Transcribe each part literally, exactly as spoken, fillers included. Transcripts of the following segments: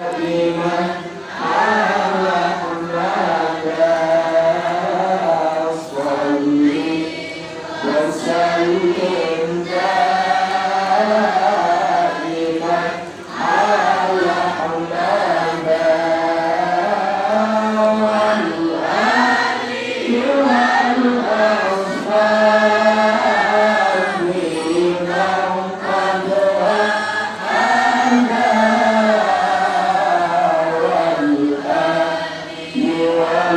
محمدا صل وسلم دائما على محمدا وعلى آله وأصحابه من قد وحدا والآل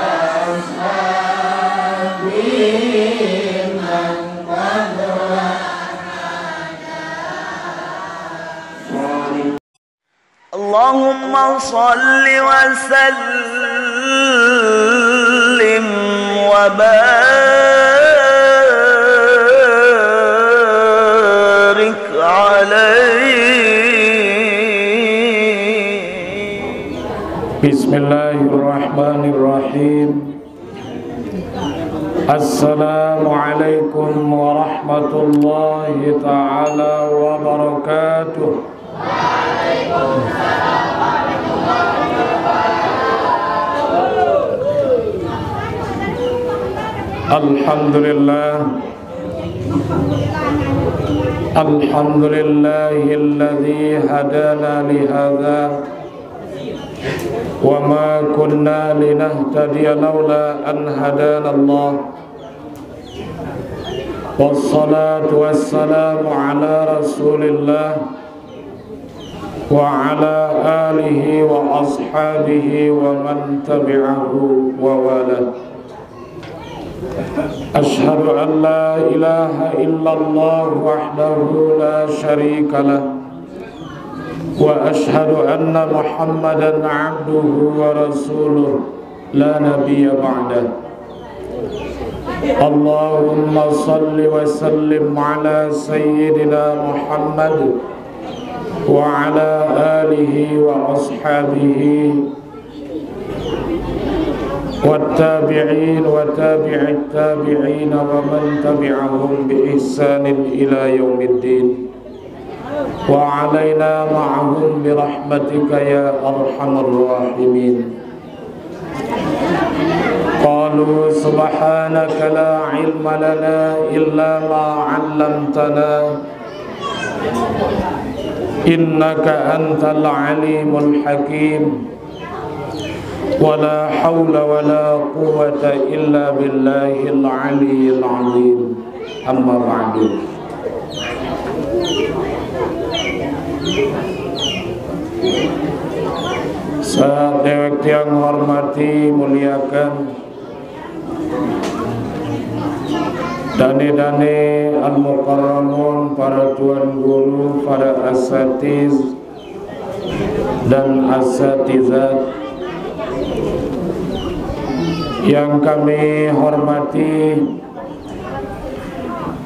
والأصحاب من قد وحدا. اللهم صل وسلم وبارك عليه. بسم الله الرحمن الرحيم. السلام عليكم ورحمة الله تعالى وبركاته. الحمد لله. الحمد لله الذي هدانا لهذا وما كنا لنهتدي لولا أن هدانا الله. والصلاة والسلام على رسول الله وعلى آله وأصحابه ومن تبعه ووالاه. أشهد أن لا إله إلا الله وحده لا شريك له، وأشهد أن محمدا عبده ورسوله لا نبي بعده. اللهم صل وسلم على سيدنا محمد وعلى آله وأصحابه والتابعين وتابع التابعين ومن تبعهم بإحسان إلى يوم الدين، وعلينا معهم برحمتك يا أرحم الراحمين. قالوا سبحانك لا علم لنا إلا ما علمتنا إنك أنت العليم الحكيم. ولا حول ولا قوة إلا بالله العلي العظيم. أما بعد. Sadewek tiang hormati, muliakan, dane-dane al-mukarramun, para tuan guru, para asatiz dan asatizat yang kami hormati,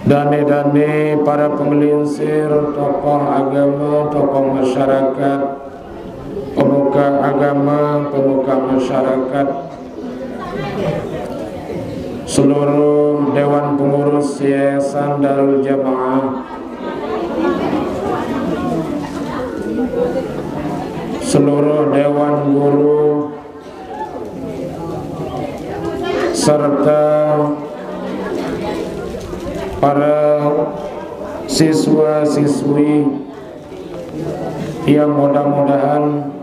dane-dane para pengelingsir, tokoh agama, tokoh masyarakat, pemuka agama, pemuka masyarakat, seluruh Dewan Pengurus Yayasan Darul Jamaah, seluruh Dewan Guru, serta para siswa-siswi yang mudah-mudahan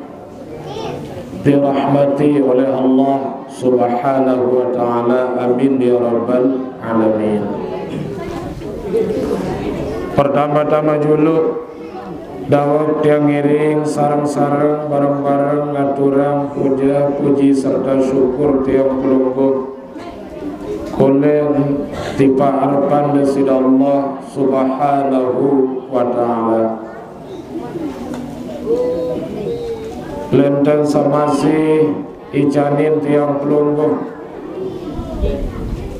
dirahmati oleh Allah Subhanahu wa Ta'ala. Amin ya Rabbal Alamin. Pertama-tama julu, daweg tiang ngiring sareng-sareng, bareng-bareng ngaturang puja, puji, serta syukur tiang pelungguh, uleng ti paarepan Desida Allah Subhanahu wa Ta'ala. Lenten samasih icanin tiang pelungguh,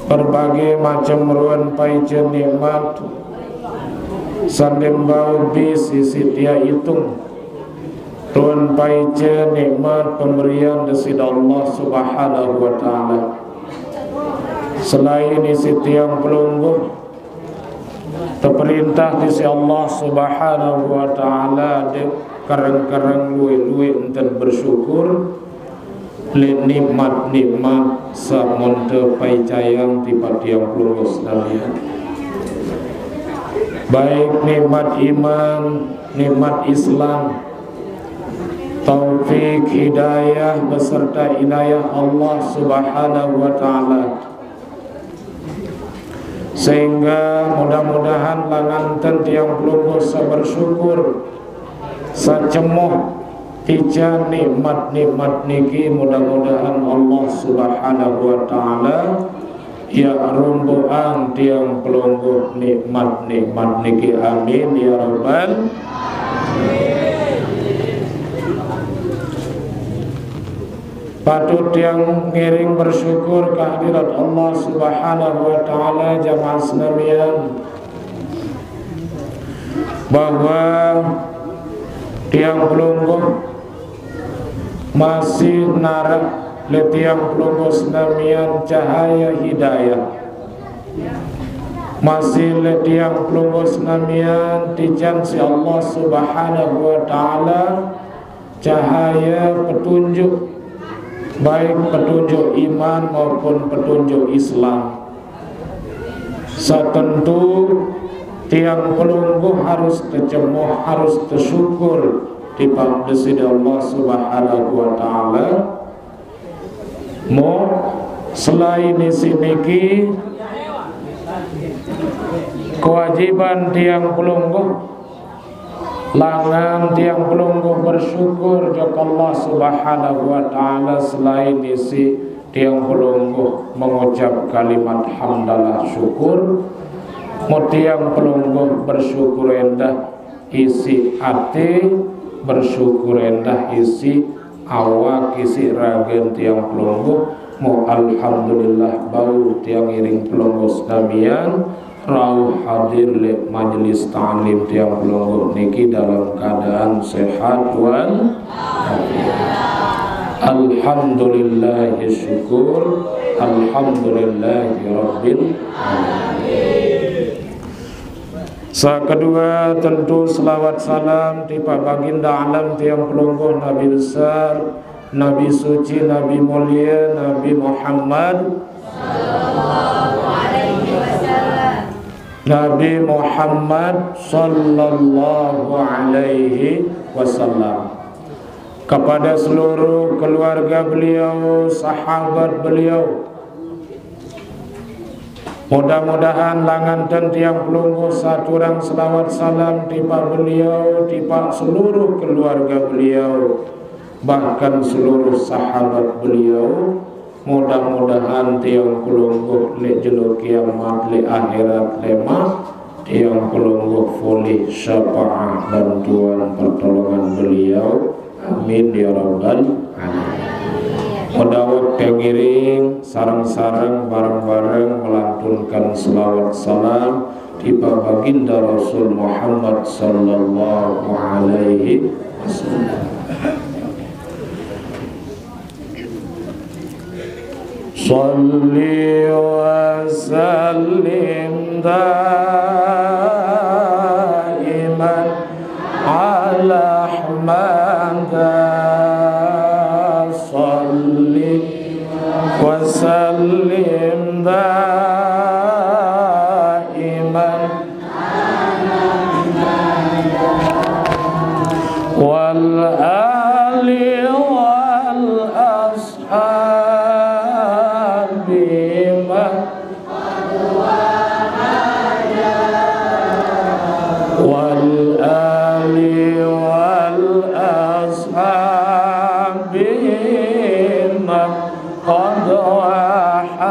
berbagai macam ruen paica nikmat, sandembau bis isi tia itung, ruen paica nikmat pemberian Desida Allah Subhanahu wa Ta'ala. Selain isi tiang pelungguh, teperintah Desida Allah Subhanahu wa Ta'ala, dek Kereng-kereng luwe-luwe enten bersyukur leq nikmat-nikmat saq monte paicayang tipaq tiang pelungguh senamian. Baik nikmat iman, nikmat Islam, taufik, hidayah, beserta inayah Allah Subhanahu wa Ta'ala. Sehingga mudah-mudahan langan ten tiang pelungguh saq bersyukur, saq cemoh tican nikmat-nikmat niki, mudah-mudahan Allah Subhanahu wa Ta'ala yaq rumbuqang tiang pelungguh nikmat-nikmat niki. Amin ya rabbal. Patut tiang ngiring bersyukur kehadirat Allah Subhanahu wa Ta'ala, jamaah senamian, bahwa tiang pelungguh masih naraq leq tiang pelungguh senamian cahaye hidayah. Masih leq tiang pelungguh senamian tican siq Allah Subhanahu wa Ta'ala cahaye petunjuk, baik petunjuk iman maupun petunjuk Islam. Saq tentu tiang pelungguh harus tecemoh, harus tesyukur tipaq Deside Allah Subhanahu wa Ta'ala. Mo, selain isiq niki, kewajiban tiang pelungguh, langan tiang pelungguh bersyukur jok Allah Subhanahu wa Ta'ala, selain isiq tiang pelungguh mengucap kalimat hamdalah syukur, mo tiang pelungguh bersyukur endah isiq ate, bersyukur endah isiq awak, isiq ragen tiang pelungguh, mo alhamdulillah bau tiang ngiring pelungguh senamian rauh hadir leq majelis taklim tiang pelungguh niki dalam keadaan sehat wal afiat. Alhamdulillahi syukur, alhamdulillahi rabbil alamin. Saq kedue, tentu selawat salam tipaq Baginda Alam tiang pelungguh, Nabi Besar, Nabi Suci, Nabi Mulie, Nabi Muhammad, Nabi Muhammad sallallahu alaihi wasallam. Kepada seluruh keluarga beliau, sahabat beliau, mudah-mudahan langan ten tiang pelungguh saturang selawat salam tipaq beliau, tipaq seluruh keluarga beliau, bahkan seluruh sahabat beliau. Mudah-mudahan tiang pelungguh leq jelo kiamat, leq akhirat lemaq, tiang pelungguh polih syafaat, bantuan, pertolongan beliau. Amin ya rabbal alamin. Medawet pengiring sareng-sareng bareng-bareng melantunkan selawat salam tipaq Baginda Rasul Muhammad sallallahu alaihi wasallam. Shalli wa sallim daiman ala Ahmada. Shalli wa sallim daiman wal ali wal ashabi ma wal ali wal ashabi ma qad wahada.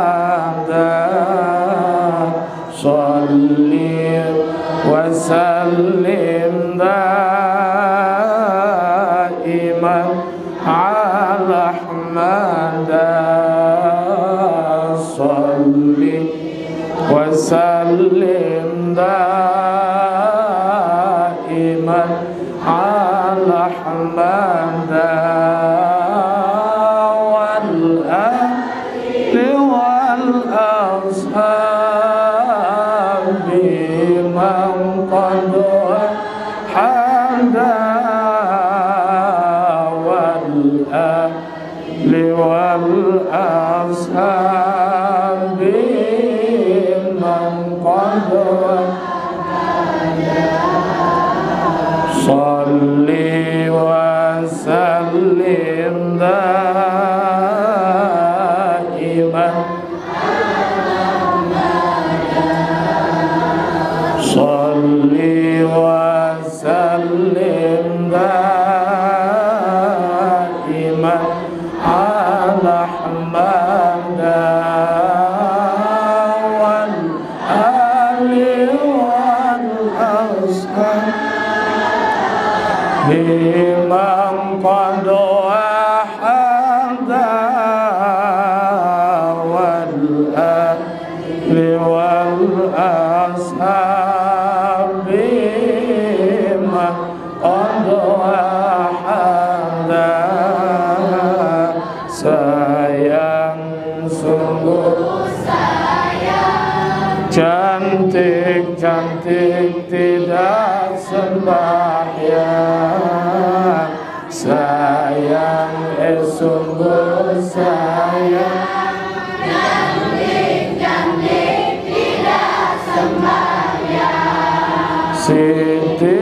Shalli wa sallim daiman ala Ahmada. Shalli wa sallim daiman ala Ahmada wal ali wal ashabi man qad wahada. والأصحاب من قد صل وسلم دائما. صل وسلم دائما على أحمد والآل والأصحاب بمن قد وحد والآل والأصحاب بمن قد وحد. Sayang sungguh cantik-cantik tidak sembahyang. Sayang, eh, sungguh sayang. Siti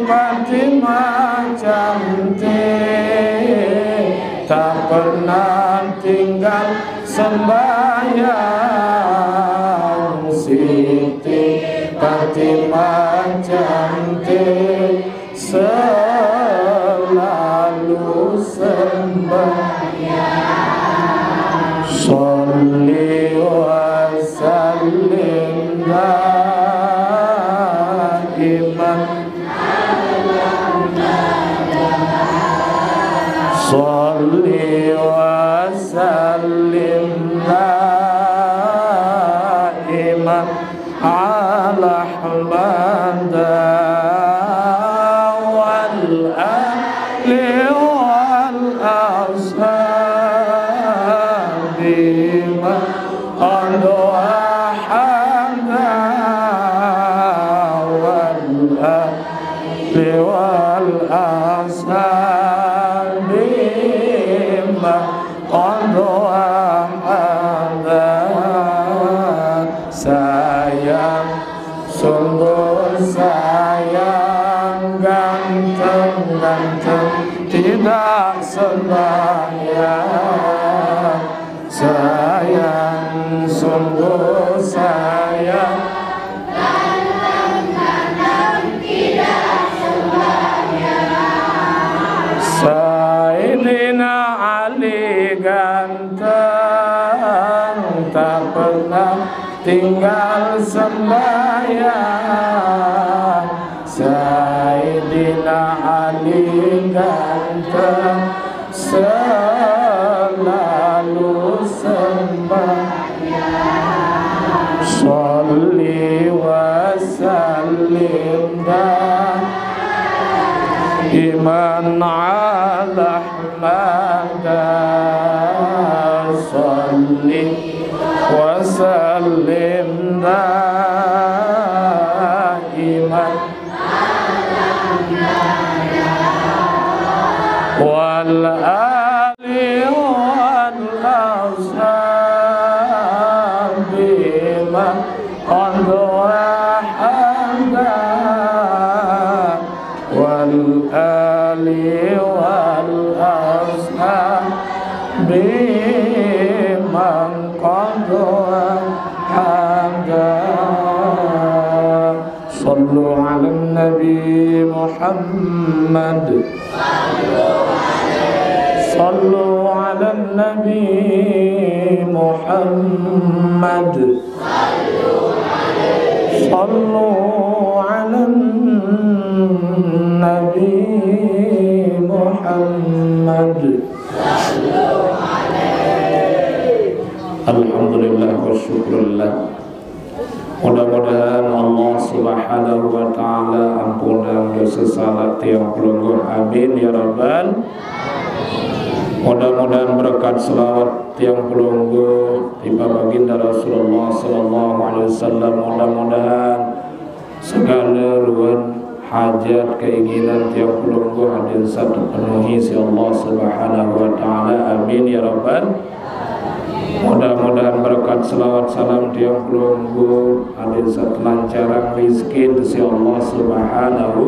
Fatimah cantik, tak pernah tinggal sembahyang. Siti Fatimah cantik, selalu sembahyang. Salli wa sallim daiman. Salli wa sallim daiman على أحمد والآل والأصحاب من قد وحد والآل والأصحاب من قد وحد. Sayang, sungguh sayang, ganteng-ganteng tidak sembahyang. Sayang, sungguh sayang, Sayyidina Ali ganteng, tak pernah tinggal sembahyang. Sayyidina Ali ganteng, selalu sembahyang. Salli wa sallim daiman ala Ahmad. Salli wa sallim daiman والآل والأصحاب من قد وحد والآل والأصحاب من قد وحد. صلوا على النبي محمد. صلوا على النبي محمد. صلوا على النبي محمد. Alhamdulillah wa syukurillah. Mudah-mudahan Allah Subhanahu wa Ta'ala ampunang dosa salah tiang pelungguh. Amin ya rabbal. Mudah-mudahan berkat selawat tiang pelungguh di Baginda Rasulullah sallallahu alaihi wasallam. Mudah-mudahan segala ruan hajat keinginan tiang pelungguh hadirin sa terpenuhi si Allah Subhanahu wa Ta'ala. Amin ya Rabbal. Mudah-mudahan berkat selawat salam tiang pelungguh hadirin sa terlancarang rizki si Allah Subhanahu.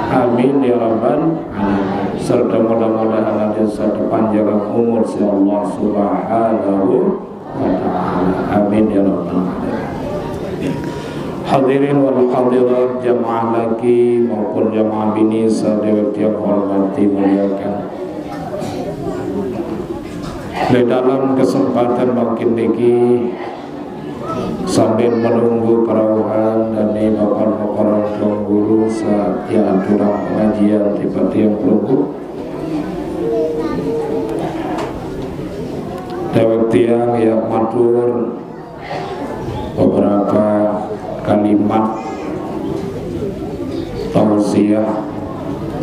Amin ya Rabbal alamin. Serta mudah-mudahan hadirin sa terpanjang umur si Allah Subhanahu wa Ta'ala. Amin ya Rabbal alamin. Hadirin wal hadirat, jamaah laki maupun jamaah bini sadaya tiang hormati muliakan. Di dalam kesempatan mangkin niki, sambil menunggu perauhan dan ni bapak makorang tuan guru sa ya aturang pengajian tipat tiang pelungguh. Dewek tiang ya matur beberapa kalimat tausiah.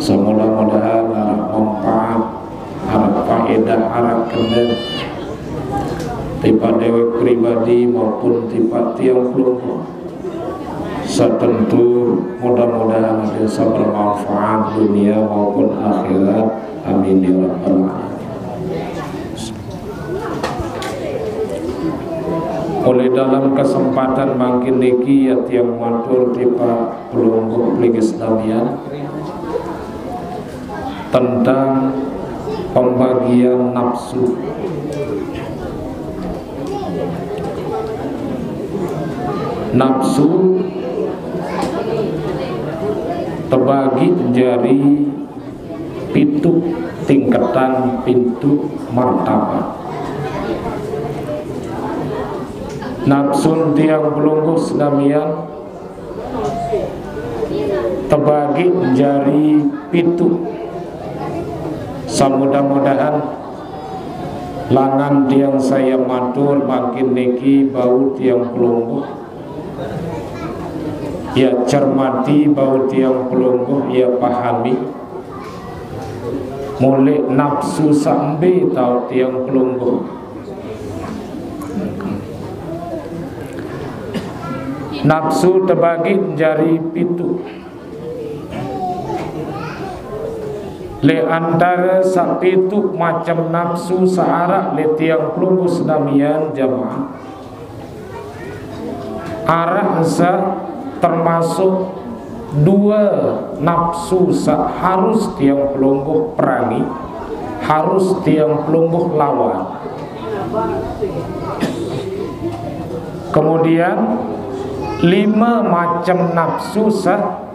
Semudah-mudahan arah manfaat, arah faedah, arah kena tipat dewek pribadi maupun tipat tiang pelungguh. Satentu mudah-mudahan bisa bermanfaat dunia maupun akhirat. Amin ya rabbal alamin. Oleh dalam kesempatan mangkin niki ya tiang matur tipat pelungguh peligi sedamian tentang pembagian nafsu. Nafsu terbagi jari pitu tingkatan, pitu martabat. Nafsu tiang pelungguh sedamian terbagi jari pitu. Samudah-mudahan langan tiang saya matur mangkin niki bau tiang pelungguh ya cermati, bau tiang pelungguh ya pahami. Mulai nafsu sampai tau tiang pelungguh. Nafsu terbagi jari pitu. Le antara sapitu macam nafsu saarak le tiang pelungguh sedamian jamaah. Arak sa termasuk dua nafsu sa harus tiang pelungguh perangi, harus tiang pelungguh lawan. Kemudian lima macam nafsu sa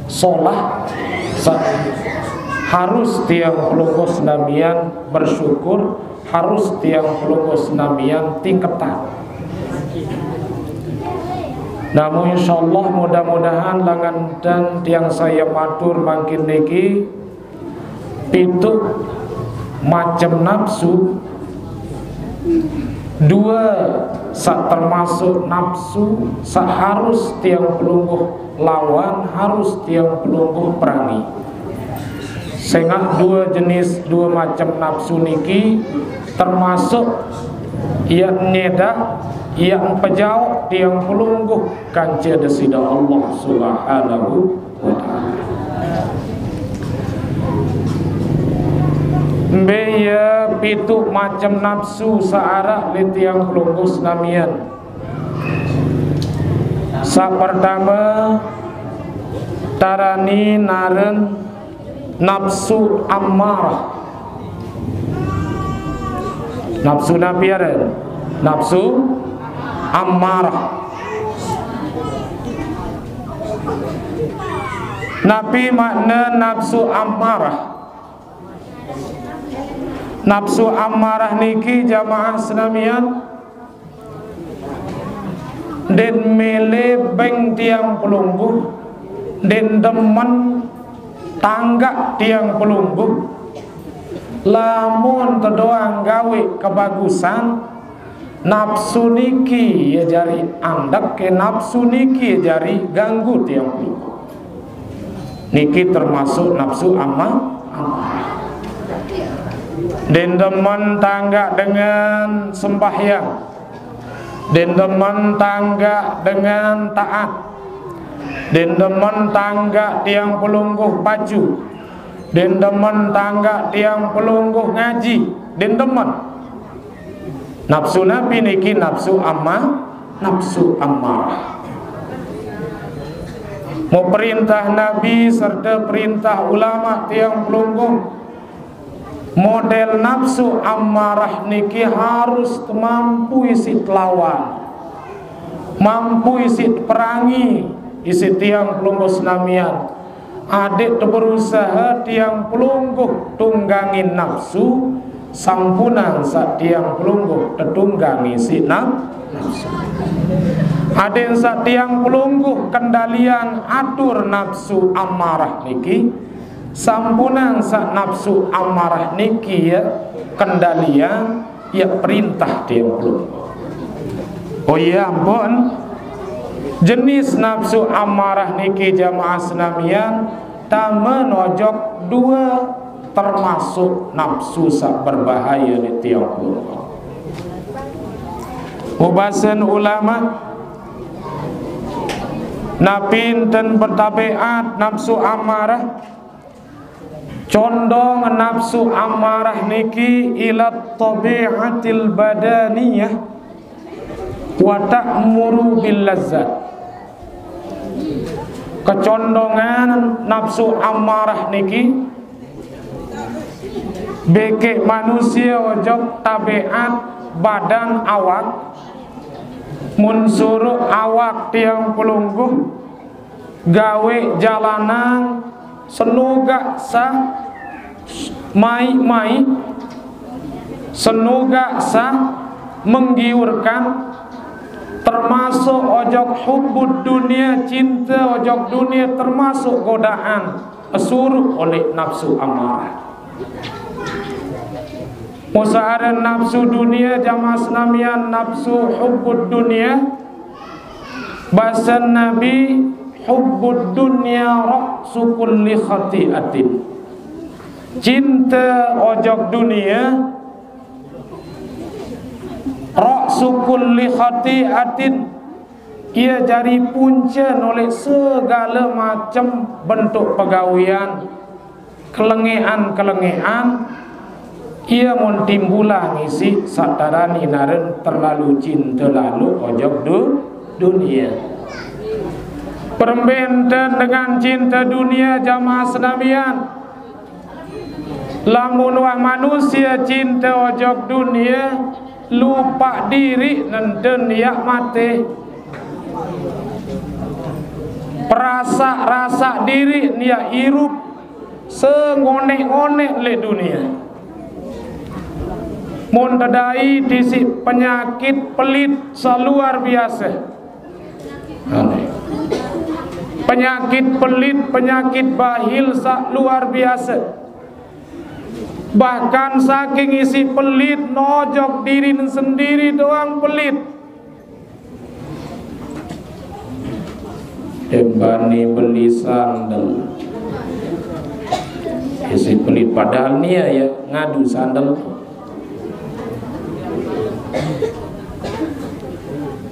solah sa harus tiang pelungguh sedamian bersyukur, harus tiang pelungguh sedamian tingkatan. Namun insyaallah mudah-mudahan langan dan tiang saya matur mangkin niki pitu macam nafsu, dua sa termasuk nafsu sa harus tiang pelungguh lawan, harus tiang pelungguh perangi. Sengah dua jenis, dua macam nafsu niki termasuk ia nyedak, ia pejauh tiang pelungguh kanca Desida Allah Subhanahu wa Ta'ala. Mbe ia pitu macam nafsu saarak le tiang pelungguh sedamian. Sa pertama tarani naren nafsu ammarah. Nafsu napi aren? Nafsu ammarah. Napi makna nafsu ammarah? Nafsu ammarah niki jamaah senamian, den mele beng tiang pelungguh, den demen tanggak tiang pelungguh. Lamun tedoang gawe kebagusan, nafsu niki ia jari andek ke, nafsu niki ia jari ganggu tiang pelungguh. Niki termasuk nafsu ama-, amarah. Den demen tanggak dengan sembahyang, den demen tanggak dengan taat, Din demen tanggak tiang pelungguh pacu. Din demen tanggak tiang pelungguh ngaji. Din demen. Nafsu Nabi niki nafsu ammah, nafsu ammarah. Mau perintah Nabi serta perintah ulama tiang pelungguh, model nafsu ammarah niki harus mampu isi telawan, mampu isi perangi isi tiang pelungguh senamian. Adik tu berusaha tiang pelungguh tunggangin nafsu, sampunang sa tiang pelungguh tetunggangi si naf-, nafsu. Adik sa tiang pelungguh kendalian atur nafsu ammarah niki, sampunang sa nafsu ammarah niki ya kendalian ya perintah tiang pelungguh. Oh iya, ampun. Jenis nafsu ammarah niki jamaah senamian, tama nojok dua termasuk nafsu sa berbahaya ni tiang pelungguh. Ubasan ulama, napi enten bertabiat nafsu ammarah, condong nafsu ammarah niki ila tabiatil badaniyah wa ta'muru bil lazzat. Kecondongan nafsu ammarah niki beke manusia ojok tabiat badan awak, mun suruh awak tiang pelungguh gawe jalanan senugak sa mai-mai, senugak sa menggiurkan, termasuk ojok hubbud dunia, cinta ojok dunia, termasuk godaan suruh oleh nafsu amarah. Musaharan nafsu dunia jamaah senamian, nafsu hubbud dunia, basan Nabi, hubbud dunya ra'su kulli khati'atin. Cinta ojok dunia, ra'su kulli khati'atin, ia jari punca noleh segala macam bentuk pegawian, kelengean-kelengean, ia mun timbulang isi satarani naren terlalu cinta lalu ojok du-, dunia. Perembenten dengan cinta dunia jamaah senamian. Lamun wah manusia cinta ojok dunia, lupa diri nenten ia mate. Perasa-rasa diri ia irup sengonek-ngonek le dunia. Mun tedai tisi penyakit pelit sa luar biasa. Penyakit pelit, penyakit bahil sa luar biasa. Bahkan saking isi pelit nojok diri sendiri doang pelit. Embani beli sandal. Isi pelit padahal nia ya ngadu sandal.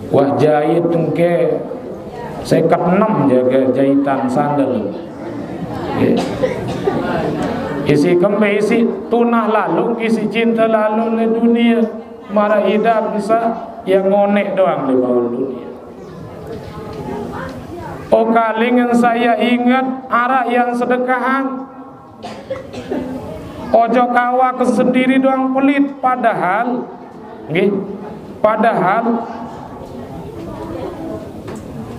Wah jahit engke seket enem jaga jahitan sandal. Ya. Isi kembe isi tunah lalu, isi cinta lalu le dunia. Mara idap bisa ya ngonek doang le baul dunia. Oh kalingan saya ingat arah yang sedekahan. Ojok awak sendiri doang pelit, padahal, nggih, padahal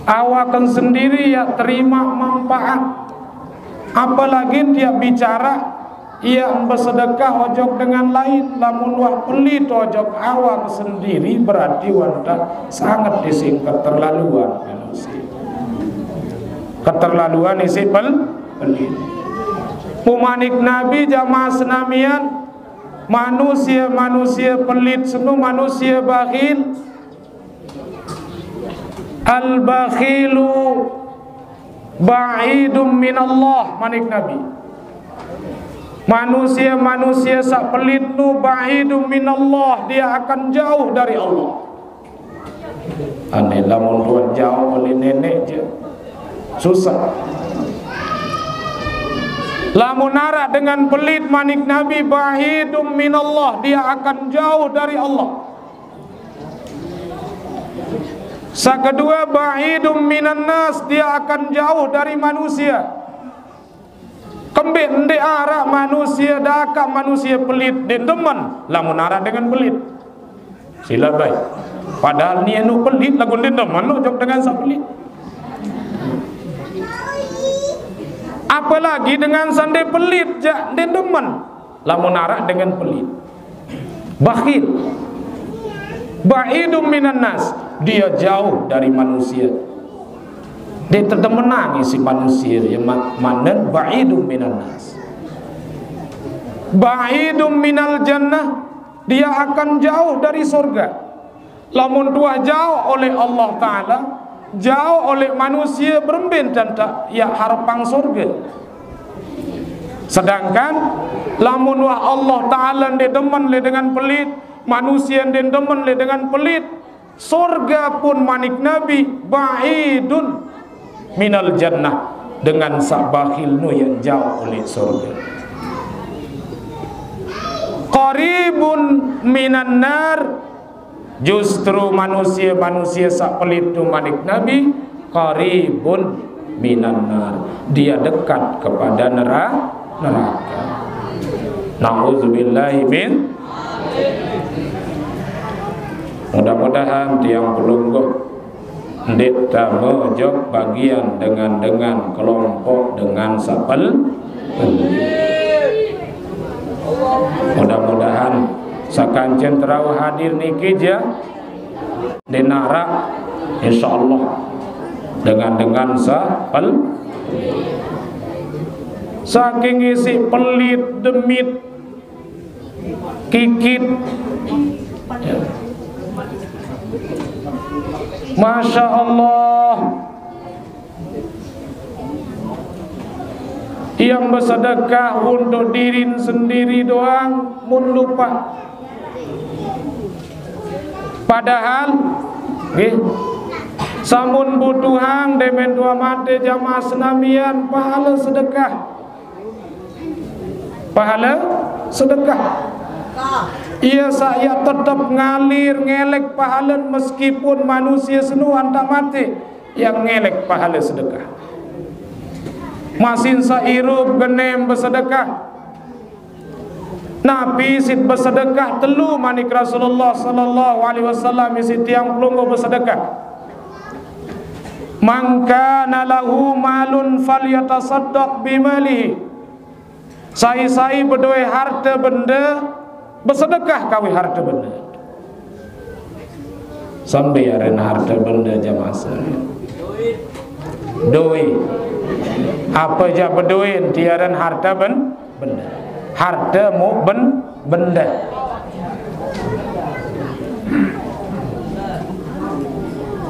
awak sendiri ya terima manfaat. Apalagi tiap bicara, ia bersedekah ojok dengan lain, lamun wah pelit ojok awak sendiri, berarti wanta sangat disingkat terlaluan manusia. Keterlaluan isi pel-, pelit. Pumanik Nabi jamaah senamian, manusia-manusia pelit senu, manusia bakhil. Al-bakhilu ba'idum minallah, manik Nabi. Manusia-manusia sa pelit nu ba'idum minallah, dia akan jauh dari Allah. Ane lamun tuan jauh oleh nenek je. Susah. Lamun arak dengan pelit, manik Nabi, ba'idum minallah, dia akan jauh dari Allah. Sa kedua, ba'idum minan nas, dia akan jauh dari manusia. Kembe nde arak manusia, dakak manusia pelit, nde demen, lamun arak dengan pelit. Sila baik. Padahal ni anu pelit, lagu nde demen, ojok dengan sa pelit. Apalagi dengan sa nde pelit, jak nde demen, lamun arak dengan pelit. Bakhil. Ba'idum minan nas. Dia jauh dari manusia. Dia tetemenang isi manusia. Ya, ma-, manen ba'idum minan nas. Ba'idum minal jannah. Dia akan jauh dari surga. Lamun tuah jauh oleh Allah Ta'ala, jauh oleh manusia, beremben tentang ya harapang surga. Sedangkan lamun wah Allah Ta'ala nde demen le dengan pelit, manusia nde demen le dengan pelit, surga pun manik Nabi ba'idun minal jannah, dengan sa bakhil nu yang jauh oleh surga. Qaribun minan nar, justru manusia-manusia sa pelit tu manik Nabi, qaribun minan nar. Dia dekat kepada nera-, neraka. Nauzubillahi min. Mudah-mudahan tiang pelungguh nde ta mojok bagian dengan, dengan kelompok dengan sa pel-, mudah-mudahan sakancen terau hadir niki ja nde narak, insyaallah dengan, dengan sa pel-, saking isi pelit, demit, kikit. Ya. Masya Allah. Yang bersedekah untuk diri sendiri doang, mun lupa. Padahal, nggih, samun butuhang demen tua mate jamaah senamian, pahala sedekah. Pahala sedekah. Ia saya tetap ngalir ngelek pahala meskipun manusia senuan tak mati yang ngelek pahala sedekah. Masin sairup genem bersedekah. Napi sit bersedekah telu manik Rasulullah sallallahu alaihi wasallam isi tiang pelungguh bersedekah. Man kana lahu malun falyatasaddaq bimalihi. Sai-sai bedoe harta benda, besedekah kawi harta benda. Sampai aren harta benda jamaah sekalian. Doi. Apa ja bedoe tiaran harta ben-, benda. Harta mu ben-, benda.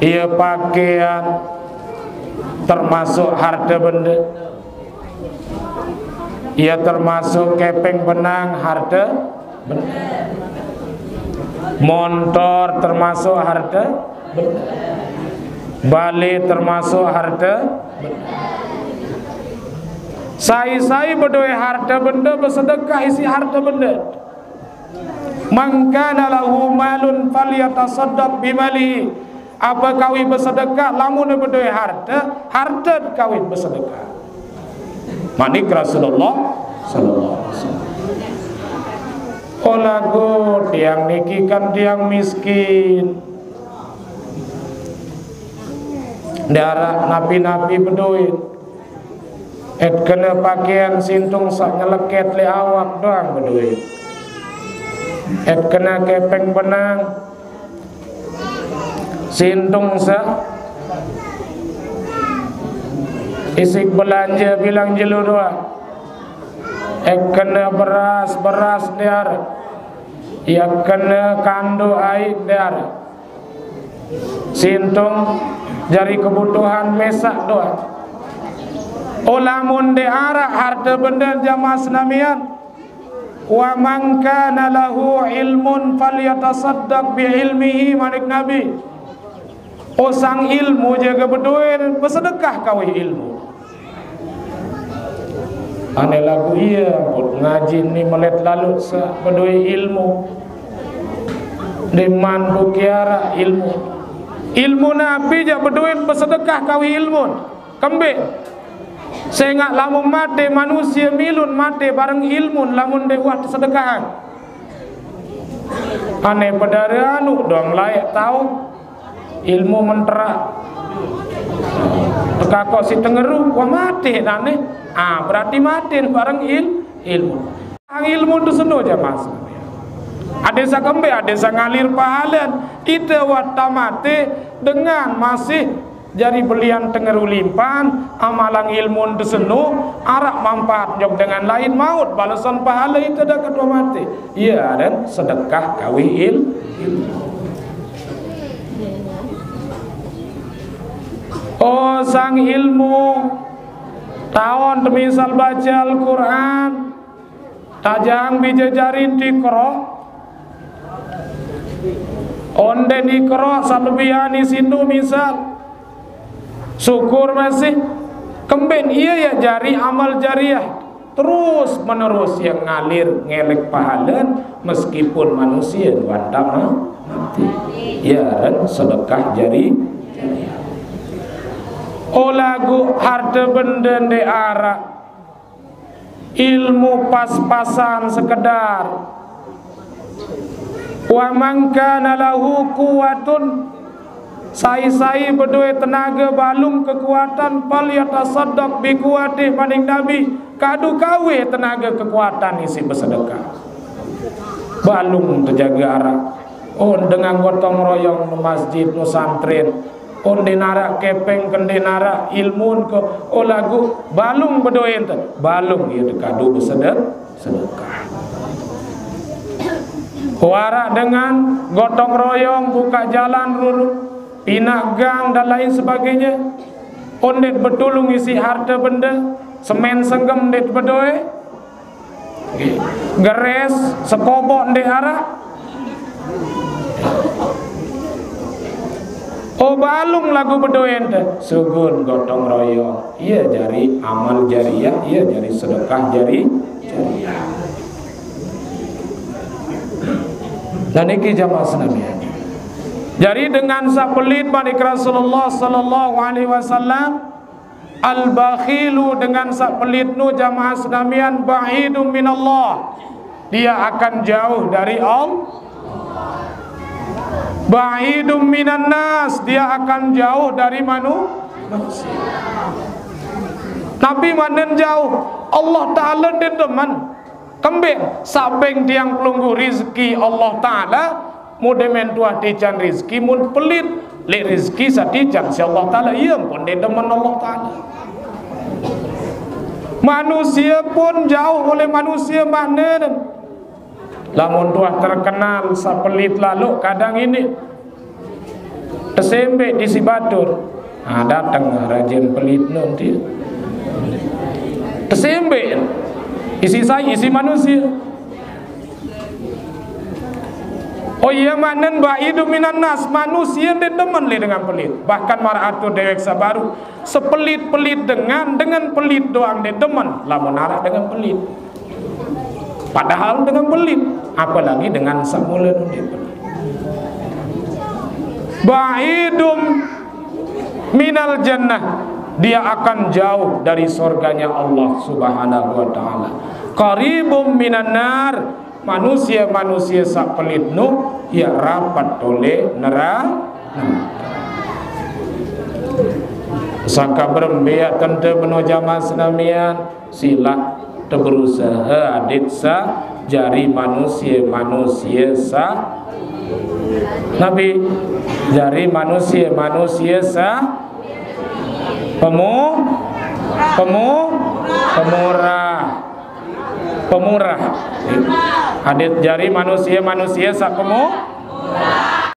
Ia pakaian termasuk harta benda. Ia termasuk kepeng benang harta benda. Montor termasuk harta benda. Bale termasuk harta benda. Sai-sai bedoe harta benda besedekah isi harta benda. Man kana lahu malun falyatasaddaq bimalihi. Apa kawi bersedekah, lamun bedoe harta, harta kawi bersedekah. Manik Rasulullah sallallahu alaihi wasallam. Oh lagu tiang niki kan tiang miskin. Ndarah napi-napi bedoe. Et kena pakaian sintung sak nyeleket le awak doang bedoe. Et kena kepeng benang sintung sak isik belanja bilang jelu doang. Et kena beras, beras diar. Ia kena kandu air diar. Sintung jari kebutuhan mesak doa. Ulamun de arak harta benda jamaah senamian. Wa man kana lahu ilmun falyatasaddaq bi ilmihi, manik Nabi. Oh, sang ilmu jaga bedoe, besedekah kawih ilmu. Ane lagu iya, ngaji ni melet lalu sa bedoe ilmu. Deman bukiara ilmu. Ilmu napi jak bedoe besedekah kawih ilmu. Kembe. Sengak lamun mate manusia milun mate bareng ilmu lamun dewah sedekahan. Ane pedare anu dong layak tau. Ilmu mentera. Tekako si tengeru, wah mate nane. Ah, berarti mate bareng il, ilmu. Ang ilmu tu seno jamaah. Ade sa kembe, ade sa ngalir pahalen. Ite wah tamate dengan masih jari belian tengeru limpan, amalang ilmu tu seno, arak manfaat jok dengan lain maut, balesan pahale ite dak ketua mate. Iya, dan sedekah kawih il, ilmu. Oh, sang ilmu, taon temisal baca Al-Quran, tajang bija jari tikro, onden ikro salebihan isindu misal, syukur masih, kemben iya ya jari amal jariah. Terus menerus yang ngalir ngelek pahalen meskipun manusia wantah ma-, mati. Ya, dan sedekah jari, jari. Oh, lagu harta benda nde arak. Ilmu pas-pasan sekedar. Wa man kana lahu quwwatun, sai-sai bedoe tenaga balung kekuatan, falyatasaddaq bi quwwatih, maning Nabi, kadu kawih tenaga kekuatan isi besedekah. Balung tejaga arak. Oh, dengan gotong royong nu masjid, nu santren. Oh, nde narak kepeng ke nde narak ilmun ke. Oh, lagu balung bedoe ente. Balung iya dekadu besedek-, sedekah. Warak dengan gotong royong, buka jalan ruru, pinak gang dan lain sebagainya. Ondet betulung isi harta benda, semen senggem ndet bedoe, geres sekobok ndet arak. Oh, balung lagu bedoe ente, sugun gotong royong. Iya jari amal jariah, iya jari sedekah jari, jariah. Dan niki jamaah senamian. Jari dengan sak pelit, manik Rasulullah sallallahu alaihi wasallam, al-bakhilu, dengan sak pelit nu, jamaah senamian, ba'idum minallah. Dia akan jauh dari Allah. Ba'idum minan nas, dia akan jauh dari manu-, manusia. Nabi manen jauh, Allah Ta'ala nde demen. Kembe, sabeng tiang pelungguh rizki Allah Ta'ala, mun demen tuah tican rizki, mun pelit, lek rizki satican si Allah Ta'ala, iya pun nde demen Allah Ta'ala. Manusia pun jauh oleh manusia manen. Lamun tuah terkenal sapelit lalu kadang ini tesembe di si batur. Nah, datang rajin pelit nanti. Tesembe. Isi sai, isi manusia. Oh iya, manen ba'idum minan nas, manusia nde demen le dengan pelit. Bahkan maraq atur dewek sabaru, sepelit-pelit dengan, dengan pelit doang nde demen, lamun araq dengan pelit. Padahal dengan pelit, apalagi dengan samulen nde pelit. Ba'idum minal jannah, dia akan jauh dari surganya Allah Subhanahu wa Ta'ala. Qaribum minan nar, manusia-manusia saq pelit nu, ya rapat tole neraka. Sangka berembe ya tente beno jamaah senamian, silaq teberusaha adit saq jari manusia-manusia saq nabi, jari manusia-manusia saq pemu-, pemu-, pemurah. Pemurah. Adit jari manusia-manusia saq pemu-,